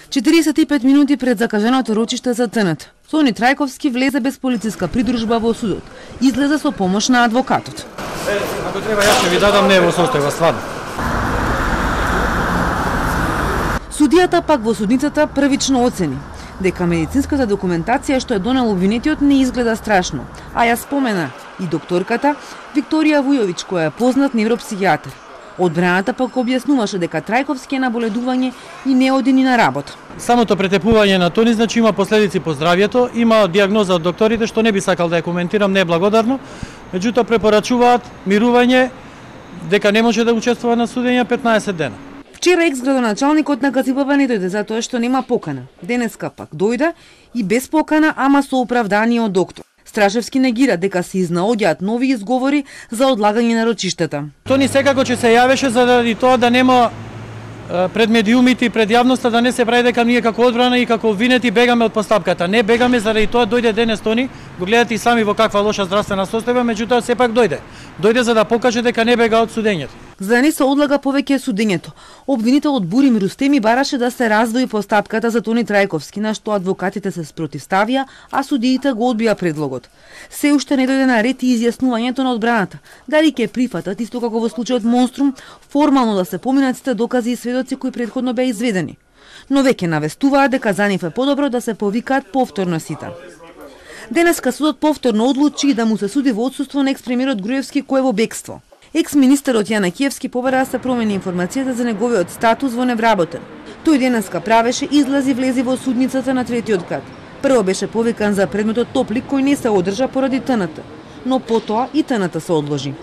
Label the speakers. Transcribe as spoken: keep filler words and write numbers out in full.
Speaker 1: четиридесет и пет минути пред закажаното рочиште за ТНТ, Тони Трајковски влезе без полициска придружба во судот. Излезе со помош на адвокатот.
Speaker 2: Е, ако треба јас ќе ви дадам, не е во состојба стварно.
Speaker 1: Судијата пак во судницата првично оцени дека медицинската документација што е донел обвинетиот не изгледа страшно, а ја спомена и докторката Викторија Вујовиќ, која е познат невропсихијатар. Одбраната пак објаснуваше дека Трајковски е на боледување и не оди ни на работа.
Speaker 2: Самото претепување на Тони значи има последици по здравјето, има диагноза од докторите што не би сакал да ја коментирам, неблагодарно, меѓутоа препорачуваат мирување, дека не може да учествува на судење петнаесет дена.
Speaker 1: Вчера екс-градоначалникот на ГЦПП не дојде затоа што нема покана. Денеска пак дојде и без покана, ама со оправдание од доктор. Страшевски негира дека се изнаоѓаат нови изговори за одлагање на рочиштата.
Speaker 2: Тони секако ќе се јавеше заради тоа да нема пред медиумите и пред јавноста да не се прави дека ние како одбрана и како обвинети бегаме од постапката. Не бегаме заради тоа дојде денес Тони, го гледате и сами во каква лоша здравствена состојба, меѓутоа сепак дојде. Дојде за да покаже дека не бега од судењето.
Speaker 1: За да не се одлага повеќе судењето, обвинителот Бурим Рустеми бараше да се раздвои постапката за Тони Трајковски, на што адвокатите се спротивставија, а судиите го одбија предлогот. Се уште не дојде на ред и изјаснувањето на одбраната, дали ќе прифатат, исто како во случајот Монструм, формално да се поминат сите докази и сведоци кои претходно беа изведени. Но веќе навестуваат дека за нив е подобро да се повикаат повторно сите. Денеска судот повторно одлучи да му се суди во отсуство на екс-премиерот Груевски кој е во бегство. Екс-министерот Јанакиевски побара да се промени информацијата за неговиот статус во невработен. Тој денеска правеше излази влези во судницата на третиот кат. Прво беше повикан за предметот Топлик кој не се одржа поради ТНТ, но потоа и ТНТ се одложи.